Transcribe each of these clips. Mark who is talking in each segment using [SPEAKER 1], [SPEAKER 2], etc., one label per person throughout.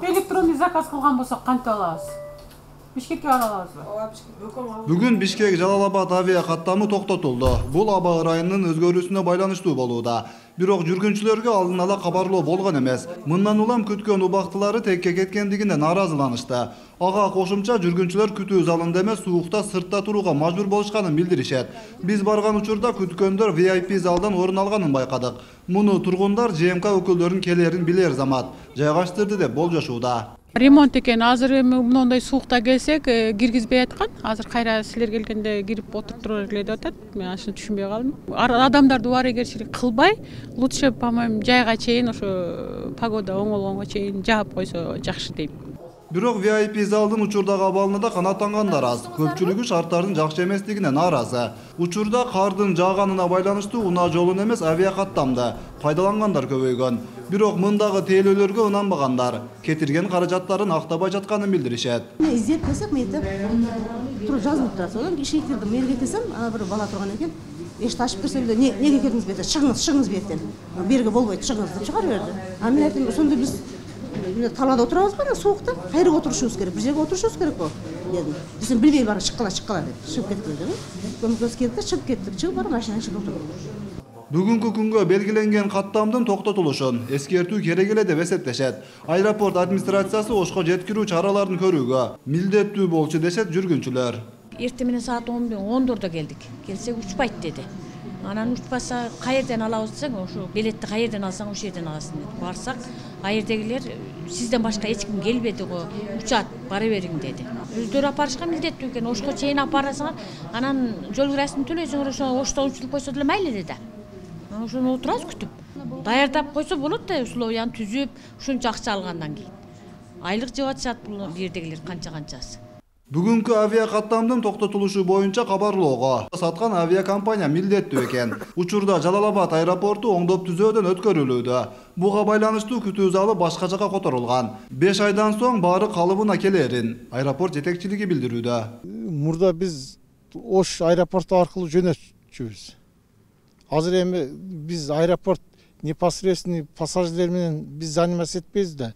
[SPEAKER 1] Электронный заказ кылган болсок кантип алабыз? Бишкекке бара алабызбы?
[SPEAKER 2] Бүгүн Бишкек Жалал-Абад авиа каттамы токтотулду. Бул аба ырайынын өзгөрүүсүнө байланыштуу болууда. Бирок жүргүнчүлөргө алдын ала кабарлоо болгон эмес. Мындан улам күткөн убактылары текке кеткендигине нааразыланышты. Ага кошумча жүргүнчүлөр күтүү залында эмес, суукта сыртта турууга мажбур болушканын билдиришет. Биз барган учурда күткөндөр VIP залдан орун алганын байкадык. Муну тургундар ЖМК өкүлдөрүнүн келерин билер замат жайгаштырды деп болжошууда.
[SPEAKER 1] Ремонт экен. Азыр эми мындай суукта келсек, киргизбей аткан. Азыр кайра силер келгенде кирип отуруп турулар эле деп атат. Мен аны түшүнбөй калдым. Адамдарды убарыгерчилик кылбай, лучше, по-моему, жайга чейин ошо погода оңолгонго чейин жаап койсо жакшы дейм.
[SPEAKER 2] Бирок VIP залдын учурдагы абалына да канааттангандар аз. Көпчүлүгү шарттардын жакшы эместигине нааразы. Учурда кардын жааганына байланыштуу унаа жолун эмес, авиакаттамды пайдалангандар көбөйгөн. Бирок мындагы тейлөөлөргө ынанбагандар кетирген каражаттарын актабай жатканын билдиришет.
[SPEAKER 3] Издеп келсек, мектеп туруп жазылып турат. Одан ишке кирдим, мэрге кетсем, ана бир бала турган экен. Эшикти ачып кирсе эле, неге келдиңиз бу жерге? Чыгыңыз бу жерден. Берге болбойт, чыгыңыз деп чыгарып берди. Мен айттым, ошондо биз талаада отурабыз ба, суукта? Кайерге отурушубуз керек? Бир жерге отурушубуз керек го дедим. Десем, билбей барып чыккыла деп. Чыгып кеткиле дедим. Көмөкөз келди да чыгып кеттик. Чыгып барып машинанын ичинде отурдук.
[SPEAKER 2] Бүгүнкү күнгө белгиленген каттамдын токтотулушун эскертүү керек эле деп эсептешет. Аэропорт администрациясы ошко жеткирүү чараларын көрүүгө милдеттүү болчу дешет жүргүнчүлөр.
[SPEAKER 4] Эртең менен саат 10:10 келдик. Келсек учпайт деди. Анан учпаса каерден алабыз десең, ошо билетти каерден алсаң ошол жерден аласың деп. Барсак, аердегилер сизден башка эч ким келбеди го, учат, бара бериң деди. Өздөрү апарышка милдеттүү экен. Ошко чейин апарасыңар, анан жол кирасын төлөйсүңөр, ошто учуруп койсо деле мейли деди. Ошону отурабыз күтүп. Даярдап койсо болот да, условияны түзүп, ушунча акча алгандан кийин. Айлык жеп атышат бул жердегилер канчасы.
[SPEAKER 2] Бүгүнкү авиакаттамдын токтотулушу боюнча кабарлоого саткан авиакомпания милдеттүү экен. Учурда Жалал-Абад аэропорту оңдоп түзөөдөн өткөрүлүүдө. Буга байланыштуу күтүү залы башка жакка которулган. 5 айдан соң баары калыбына келерин аэропорт жетекчилиги билдирүүдө.
[SPEAKER 5] Мурда биз Ош аэропорту аркылуу жөнөтчүбүз. Азыр эми биз аэропорт непосредственный пассажирлер менен биз заниматься этпейбиз да.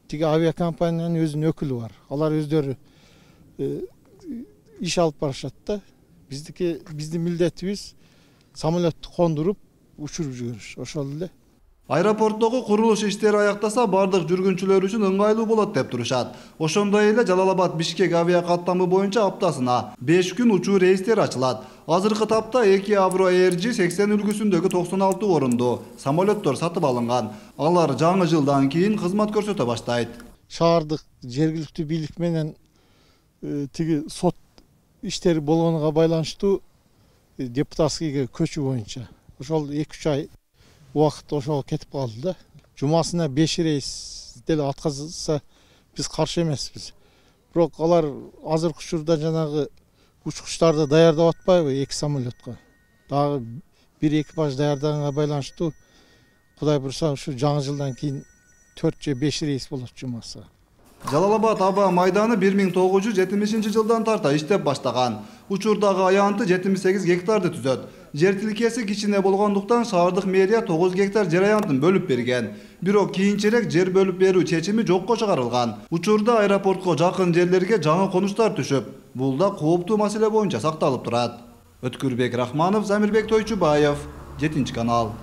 [SPEAKER 5] Тиги авиакомпаниянын өзүнүн өкүлү бар. Алар өздөрү иш алып барышат да. Биздин милдетибиз самолетту кондуруп, учуруп жибериш. Ошол эле.
[SPEAKER 2] Аэропорттогу курулуш иштери аяктаса бардык жүргүнчүлөр үчүн ыңгайлуу болот деп турушат. Ошондой эле Жалал-Абад Бишкек авиакаттамы боюнча аптасына 5 күн учуу рейстер ачылат. Азыркы тапта 2 Avro ARG 80 үлгүсүндөгү 96 орунду самолеттор сатып алынган. Алар жаңы жылдан кийин кызмат көрсөтө баштайт.
[SPEAKER 5] Шаардык жергиликтүү бийлик менен тиги сот иштери болгонуга байланыштуу депутатскийге көчүү боюнча ошол 2-3 ай убакыт ошого кетип калды да. Жумасына 5 рейс деле аткарса биз каршы эмеспиз. Бирок алар азыркы учурда жанагы учкучтарды даярдап атпайбы 2 самолетко. Дагы бир экипаж даярдаганга байланыштуу Кудай буйрса ушу жаңы жылдан кийин 4 же 5 рейс болот жумаса.
[SPEAKER 2] Жалал-Абад аба майданы 1970 жылдан тарта иштеп баштаган. Учурдагы аянты 78 гектарды түзөт. Жер тилкеси кичине болгондуктан шаардык мэрия 9 гектар жер аянтын бөлүп берген. Бирок кийинчерээк жер бөлүп берүү чечими жокко чыгарылган. Учурда аэропортко жакын жерлерге жаңы конуштар түшүп, бул да кооптуу маселе боюнча сакталып турат. Өткүрбек Рахманов, Замирбек Тойчубаев, 7 канал.